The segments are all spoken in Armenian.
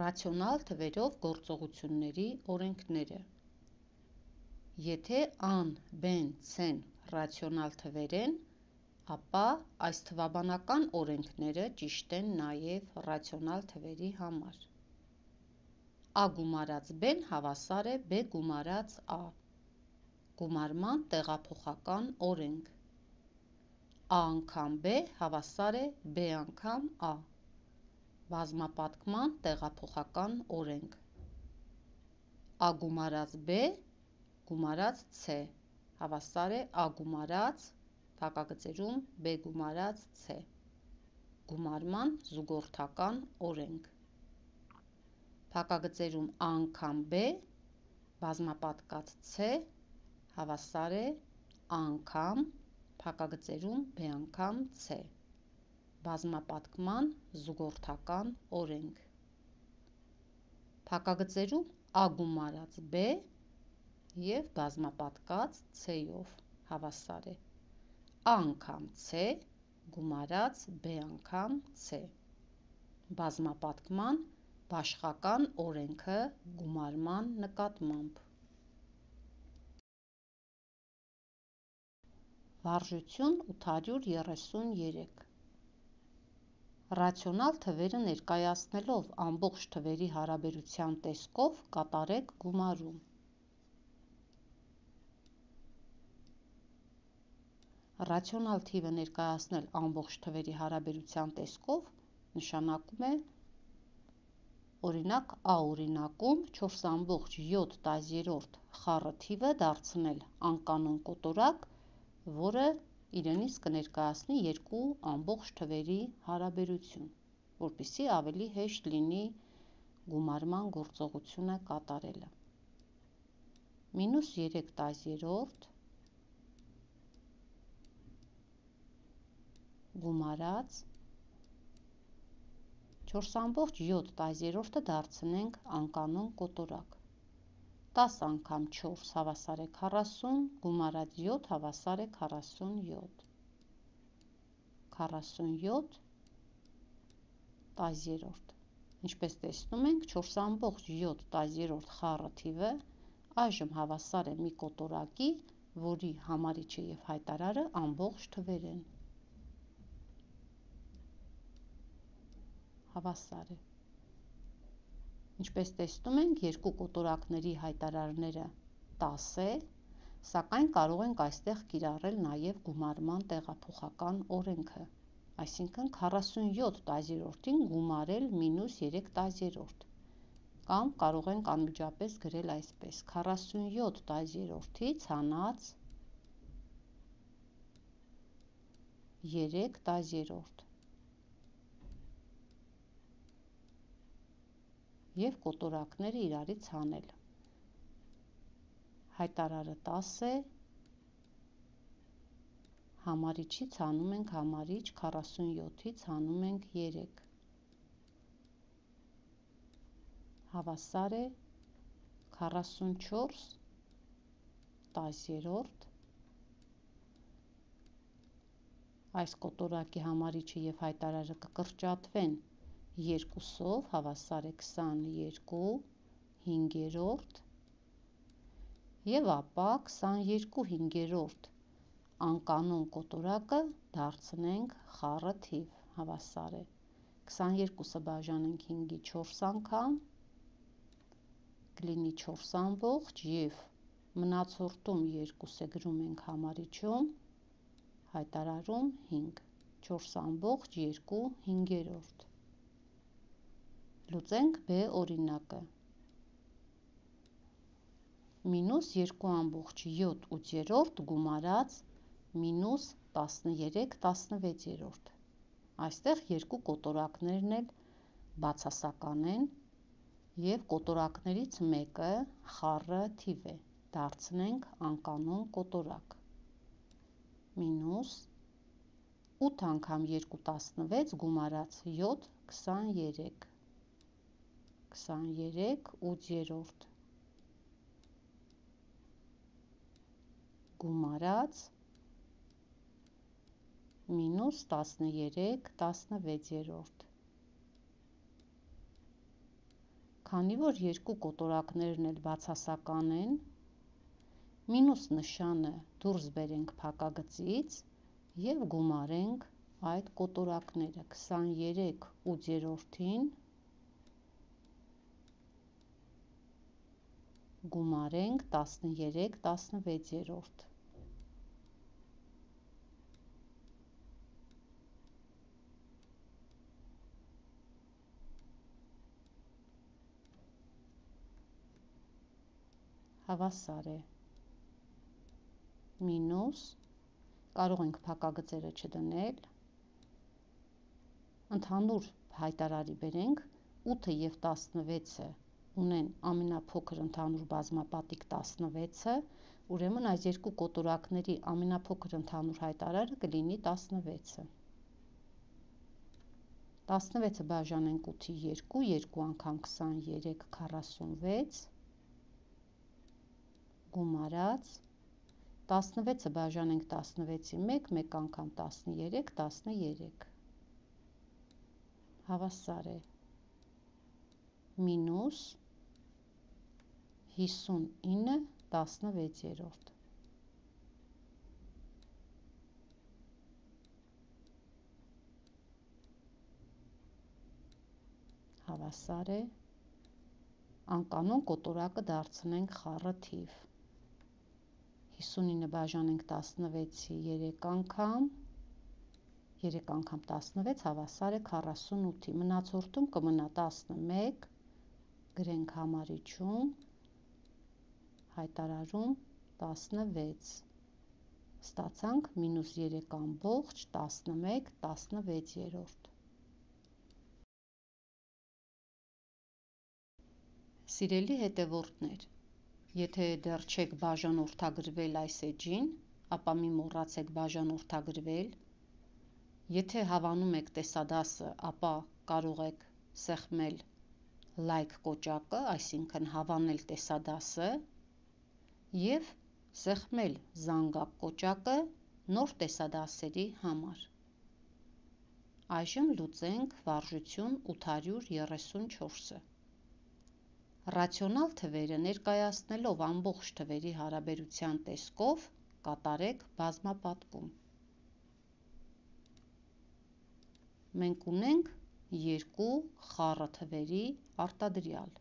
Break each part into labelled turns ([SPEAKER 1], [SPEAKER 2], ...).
[SPEAKER 1] Ռացիոնալ թվերով գործողությունների օրենքները։ Եթե A-ն, B-ն, C-ն ռացիոնալ թվեր են, ապա այս թվաբանական օրենքները ճիշտ են նաև ռացիոնալ թվերի համար։ A գումարած B-ն հավասար է B գումարած A։ Գումարման տեղափոխական օրենք։ A անգամ B հավասար է B անգամ A։ Բազմապատկման տեղափոխական օրենք։ A գումարած B գումարած C հավասար է A գումարած փակագծերում B գումարած C։ Գումարման զուգորդական օրենք։ Փակագծերում A անգամ B բազմապատկած C հավասար է A անգամ փակագծերում B անգամ C։ Բազմապատկման զուգորդական օրենք։ Փակագծերում A գումարած B և բազմապատկած C-ով հավասար է A անգամ C գումարած B անգամ C։ Բազմապատկման բաշխական օրենքը գումարման նկատմամբ։ Վարժություն 833։ Ռացիոնալ թվերը ներկայացնելով ամբողջ թվերի հարաբերության տեսքով կատարեք գումարում։ Ռացիոնալ թիվը ներկայացնել ամբողջ թվերի հարաբերության տեսքով նշանակում է օրինակ A օրինակում 4,7 խառը թիվը դարձնել անկանոն կոտորակ, որը իրենից կներկայացնի երկու ամբողջ թվերի հարաբերություն, որպեսզի ավելի հեշտ լինի գումարման գործողությունը կատարելը։ -3/10 գումարած 4,7 դարձնենք անկանոն կոտորակ։ 10 անգամ 4 հավասար է 40, գումարած 7 հավասար է 47։ 47/10։ Ինչպես տեսնում ենք, 4,7 խառը թիվը այժմ հավասար է մի կոտորակի, որի համարիչը և հայտարարը ամբողջ թվեր են։ Հավասար է։ Ինչպես տեսնում ենք, երկու կոտորակների հայտարարները 10 է, սակայն կարող ենք այստեղ կիրառել նաև գումարման տեղափոխական օրենքը, այսինքն 47/10-ին գումարել -3/10, կամ կարող ենք անմիջապես գրել այսպես. 47/10-ի ցանած 3/10 և կոտորակները իրարից հանել։ Հայտարարը 10 է, համարիչից հանում ենք համարիչ, 47-ից հանում ենք 3։ Հավասար է 44/10։ Այս կոտորակի համարիչը և հայտարարը կկրճատվեն 2-ով, հավասար է 22/5, և ապա 22/5 անկանոն կոտորակը դարձնենք խառը թիվ, հավասար է 22-ը բաժանենք 5-ի 4 անգամ, կլինի 4 ամբողջ, և մնացորդում 2-ը գրում ենք համարիչում, հայտարարում 5, 4,2/5։ Լուծենք B օրինակը։ -2,7 գումարած -13/16։ Այստեղ երկու կոտորակներն էլ բացասական են, և կոտորակներից մեկը խառը թիվ է, դարձնենք անկանոն կոտորակ։ -8 անգամ 2 16 գումարած 7 23։ 23/8 գումարած -13/16։ Քանի որ երկու կոտորակներն էլ բացասական են, մինուս նշանը դուրս բերենք փակագծից և գումարենք այդ կոտորակները 23/8 գումարենք 13/16 հավասար է մինուս, կարող ենք փակագծերը չդնել, ընդհանուր հայտարարի բերենք 8-ը և 16-ը ունեն ամենափոքր ընդհանուր բազմապատիկ 16-ը, ուրեմն այս երկու կոտորակների ամենափոքր ընդհանուր հայտարարը կլինի 16-ը։ 16-ը բաժանենք 8-ի 2, 2 անգամ 23, 46, գումարած, 16-ը բաժանենք 16-ի 1, 1 անգամ 13, 13, հավասար է մինուս 59/16 հավասար է, անկանոն կոտորակը դարձնենք խառը թիվ, 59-ը բաժանենք 16-ի 3 անգամ, 3 անգամ 16 հավասար է 48-ի, մնացորդում կմնա 11, գրենք համարիչում, հայտարարում 16, ստացանք մինուս 3/11/16։ Սիրելի հետևորդներ, եթե դեռ չեք բաժանորդագրվել այս էջին, ապա մի մոռացեք բաժանորդագրվել, եթե հավանում եք տեսադասը, ապա կարող եք սեղմել լայք կոճակը, այսինքն հավանել տեսադասը և սեղմել զանգակ կոճակը նոր տեսադասերի համար։ Այժմ լուծենք վարժություն 834-ը։ Ռացիոնալ թվերը ներկայացնելով ամբողջ թվերի հարաբերության տեսքով կատարեք բազմապատկում։ Մենք ունենք երկու խառը թվերի արտադրյալ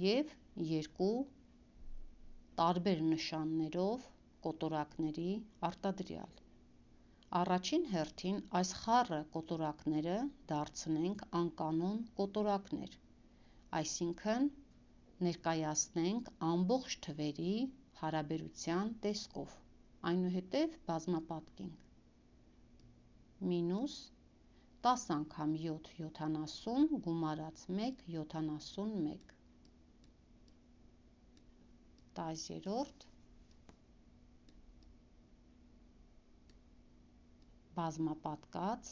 [SPEAKER 1] և երկու տարբեր նշաններով կոտորակների արտադրյալ։ Առաջին հերթին այս խառը կոտորակները դարձնենք անկանոն կոտորակներ, այսինքն ներկայացնենք ամբողջ թվերի հարաբերության տեսքով, այնուհետև բազմապատկենք։ Մինուս 10 անգամ 7, 70, գումարած 1, 71, 10-րդ, բազմապատկած,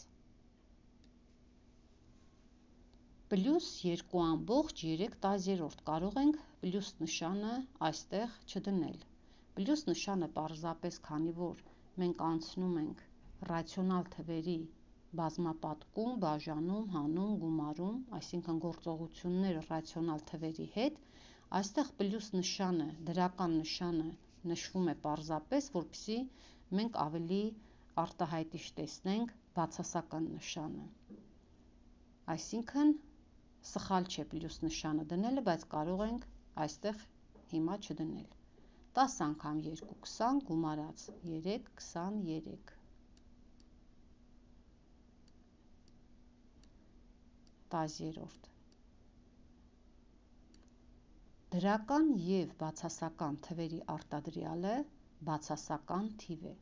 [SPEAKER 1] պլյուս 2/3, կարող ենք պլյուս նշանը այստեղ չդնել։ Պլյուս նշանը պարզապես, քանի որ մենք անցնում ենք ռացիոնալ թվերի բազմապատկում, բաժանում, հանում, գումարում, այսինքն գործողություններ ռացիոնալ թվերի հետ, այստեղ պլյուս նշանը, դրական նշանը նշվում է պարզապես, որպեսզի մենք ավելի արտահայտիչ տեսնենք բացասական նշանը։ Այսինքն սխալ չէ պլյուս նշանը դնելը, բայց կարող ենք այստեղ հիմա չդնել։ 10 անգամ 2, 20, գումարած 3, 23, 10-րդ։ Դրական և բացասական թվերի արտադրյալը բացասական թիվ է։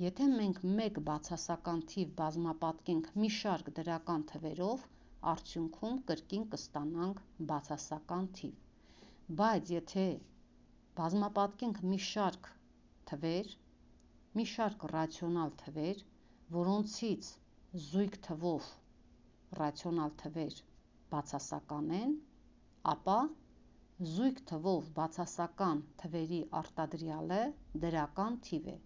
[SPEAKER 1] Եթե մենք մեկ բացասական թիվ բազմապատկենք մի շարք դրական թվերով, արդյունքում կրկին կստանանք բացասական թիվ, բայց եթե բազմապատկենք մի շարք թվեր, մի շարք ռացիոնալ թվեր, որոնցից զույգ թվով ռացիոնալ թվեր բացասական են, ապա զույգ թվով բացասական թվերի արտադրյալը դրական թիվ է,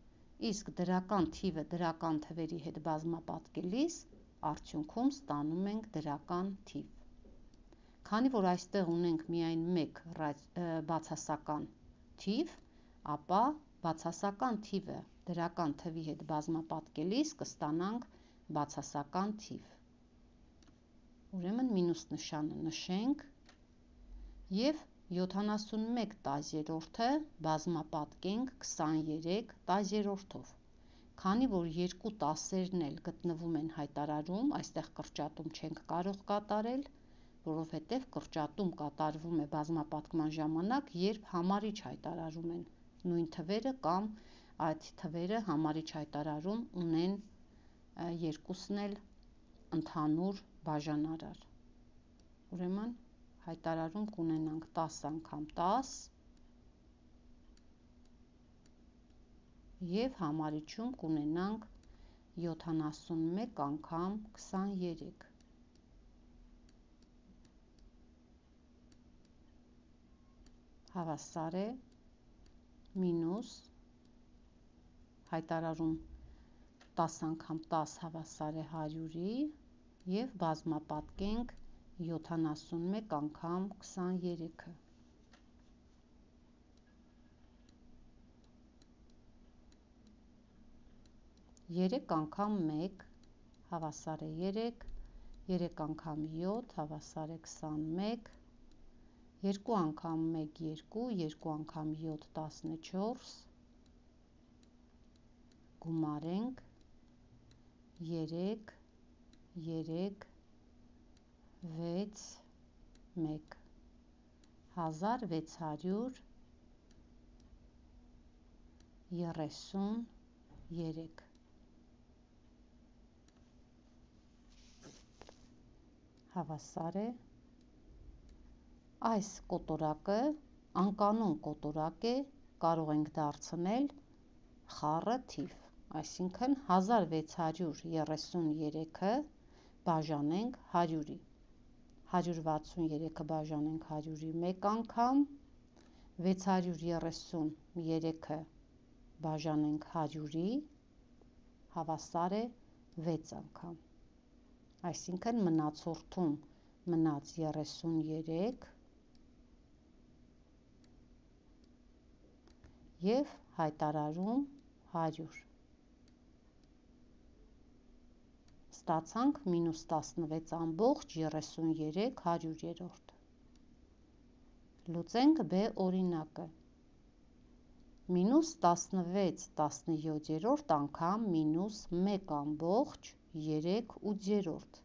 [SPEAKER 1] իսկ դրական թիվը դրական թվերի հետ բազմապատկելիս արդյունքում ստանում ենք դրական թիվ։ Քանի որ այստեղ ունենք միայն մեկ բացասական թիվ, ապա բացասական թիվը դրական թվի հետ բազմապատկելիս կստանանք բացասական թիվ։ Ուրեմն մինուս նշանը նշենք և 71 տասներորդը բազմապատկենք 23 տասներորդով։ Քանի որ երկու տասերն էլ գտնվում են հայտարարում, այստեղ կրճատում չենք կարող կատարել, որովհետև կրճատում կատարվում է բազմապատկման ժամանակ, երբ համարիչ հայտարարում են նույն թվերը կամ այդ թվերը համարիչ հայտարարում ունեն երկուսն էլ ընդհանուր բաժանարար։ Ուրեմն հայտարարում կունենանք 10 անգամ 10 և համարիչում կունենանք 71 անգամ 23։ Հավասար է մինուս հայտարարում 10 անգամ 10 հավասար է 100-ի և բազմապատկենք 71 անգամ 23-ը։ 3 անգամ 1 հավասար է 3, 3 անգամ 7 հավասար է 21, 2 անգամ 1 2, 2 անգամ 7 14, գումարենք 3, 3, 6, 1, 1633 հավասար է, այս կոտորակը անկանոն կոտորակ է, կարող ենք դարձնել խառը թիվ, այսինքն 1633-ը բաժանենք 100-ի, 163-ը բաժանենք 100-ի մեկ անգամ, 633-ը բաժանենք 100-ի, հավասար է 6 անգամ, այսինքն մնացորդում մնաց 33 և հայտարարում 100։ Ստացանք մինուս 16 ամբողջ 33 հարյուրերորդ։ Լուծենք B օրինակը։ Մինուս 16 17-րդ անգամ մինուս 1 ամբողջ 3/8։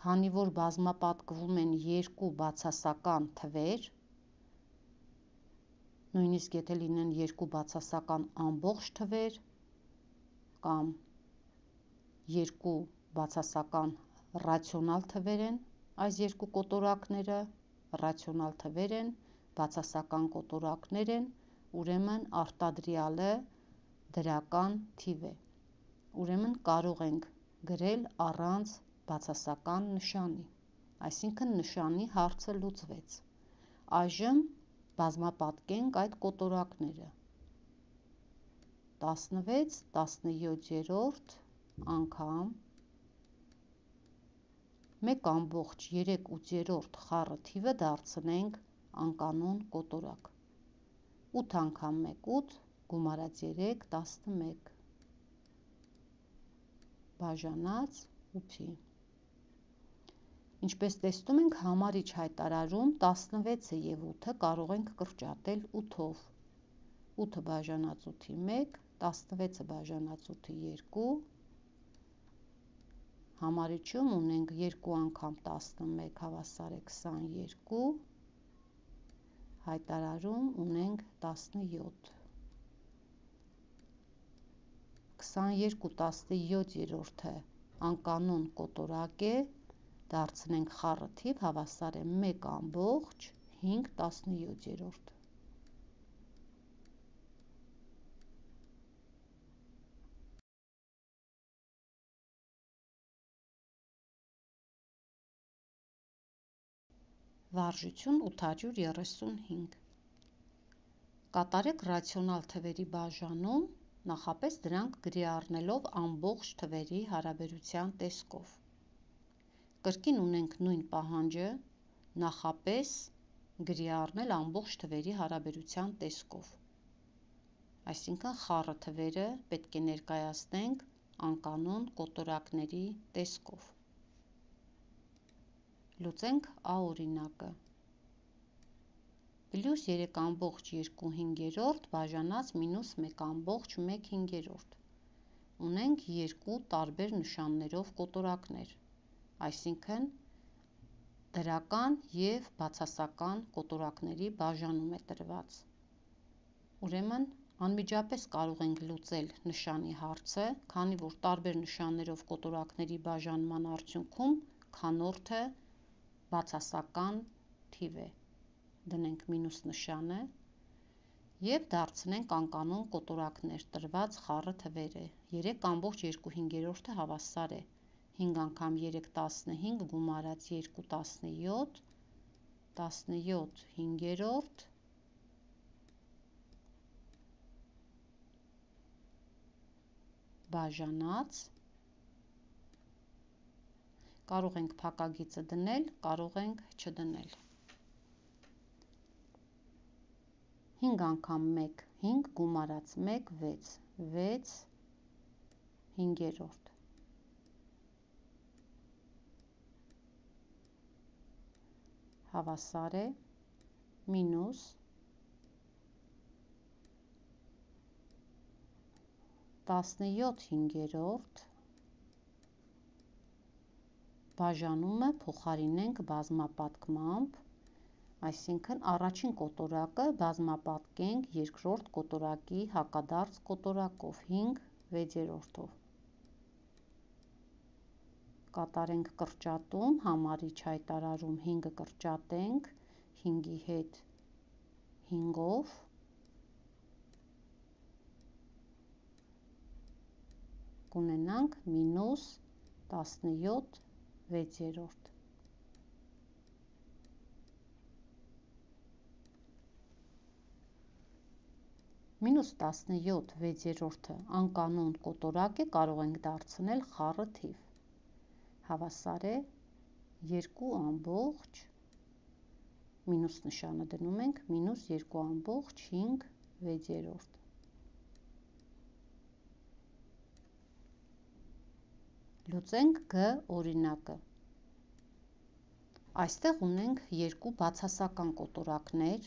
[SPEAKER 1] Քանի որ բազմապատկվում են երկու բացասական թվեր, նույնիսկ եթե լինեն երկու բացասական ամբողջ թվեր կամ երկու բացասական ռացիոնալ թվեր են, այս երկու կոտորակները ռացիոնալ թվեր են, բացասական կոտորակներ են, ուրեմն արտադրյալը դրական թիվ է, ուրեմն կարող ենք գրել առանց բացասական նշանի, այսինքն նշանի հարցը լուծվեց։ Այժմ բազմապատկենք այդ կոտորակները։ 16 17-րդ անգամ 1 ամբողջ 3/8 խառը թիվը դարձնենք անկանոն կոտորակ։ 8 անգամ 1 8, գումարած 3 11, բաժանած 8-ի։ Ինչպես տեսնում ենք, համարիչ հայտարարում 16-ը և 8-ը կարող ենք կրճատել 8-ով։ 8-ը բաժանած 8-ի 1, 16-ը բաժանած 8-ի 2, համարիչում ունենք 2 անգամ 11 հավասար է 22, հայտարարում ունենք 17։ 22 17-րդը անկանոն կոտորակ է, դարձնենք խառը թիվ, հավասար է 1 ամբողջ 5 17-րդ։ Վարժություն 835։ Կատարեք ռացիոնալ թվերի բաժանում, նախապես դրանք գրի առնելով ամբողջ թվերի հարաբերության տեսքով։ Կրկին ունենք նույն պահանջը, նախապես գրի առնել ամբողջ թվերի հարաբերության տեսքով։ Այսինքն խառը թվերը պետք է ներկայացնենք անկանոն կոտորակների տեսքով։ Լուծենք Ա օրինակը։ Պլյուս 3,2/5 բաժանած մինուս 1,1/5։ Ունենք երկու տարբեր նշաններով կոտորակներ, այսինքն դրական և բացասական կոտորակների բաժանում է տրված։ Ուրեմն անմիջապես կարող ենք լուծել նշանի հարցը, քանի որ տարբեր նշաններով կոտորակների բաժանման արդյունքում քանորդը բացասական թիվ է։ Դնենք մինուս նշանը և դարձնենք անկանոն կոտորակներ տրված խառը թվերը։ 3,2/5 հավասար է 5 անգամ 3 15 գումարած 2 17, 17/5 բաժանած, կարող ենք փակագիծը դնել, կարող ենք չդնել։ 5 անգամ 1 5 գումարած 1 6, 6/5 հավասար է մինուս 17/5 բաժանումը փոխարինենք բազմապատկմամբ, այսինքն առաջին կոտորակը բազմապատկենք երկրորդ կոտորակի հակադարձ կոտորակով 5/6-ով։ Կատարենք կրճատում, համարիչ հայտարարում 5-ը կրճատենք 5-ի հետ 5-ով, կունենանք մինուս 17/6։ Մինուս 17/6 անկանոն կոտորակ է, կարող ենք դարձնել խառը թիվ, հավասար է 2 ամբողջ, մինուս նշանը դնում ենք, մինուս 2,5/6։ Լուծենք Գ օրինակը։ Այստեղ ունենք երկու բացասական կոտորակներ,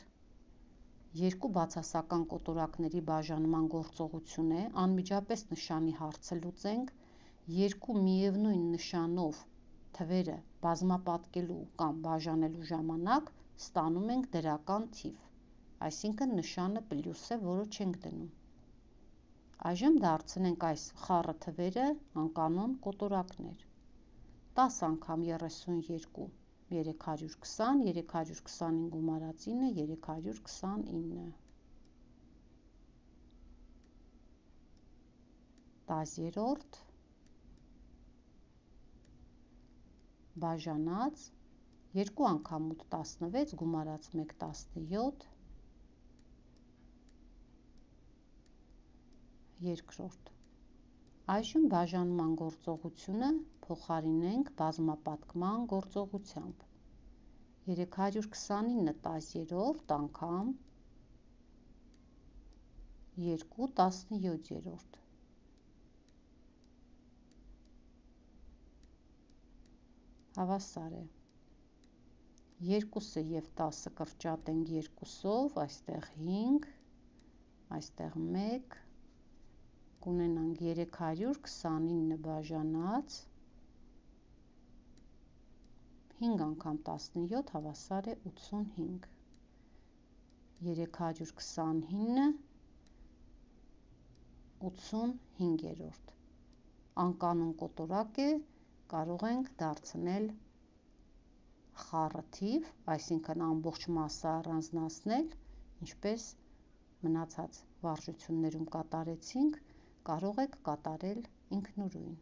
[SPEAKER 1] երկու բացասական կոտորակների բաժանման գործողություն է, անմիջապես նշանի հարցը լուծենք, երկու միևնույն նշանով թվերը բազմապատկելու կամ բաժանելու ժամանակ ստանում ենք դրական թիվ, այսինքն նշանը պլյուս է, որը չենք դնում։ Այժմ դարձնենք այս խառը թվերը անկանոն կոտորակներ։ 10 անգամ 32 320, 325 գումարած 9 329, 10-րդ բաժանած 2 անգամ 8 16 գումարած 1 17, երկրորդ։ Այժմ բաժանման գործողությունը փոխարինենք բազմապատկման գործողությամբ։ 329 10-րդ անգամ 2 17-րդ։ Հավասար է 2-ը և 10-ը կրճատենք 2-ով, այստեղ 5, այստեղ 1, կունենանք 329 բաժանած 5 անգամ 17 հավասար է 85, 329 85-րդ, անկանոն կոտորակ է, կարող ենք դարձնել խառը թիվ, այսինքն ամբողջ մասը առանձնացնել, ինչպես մնացած վարժություններում կատարեցինք, կարող եք կատարել ինքնուրույն։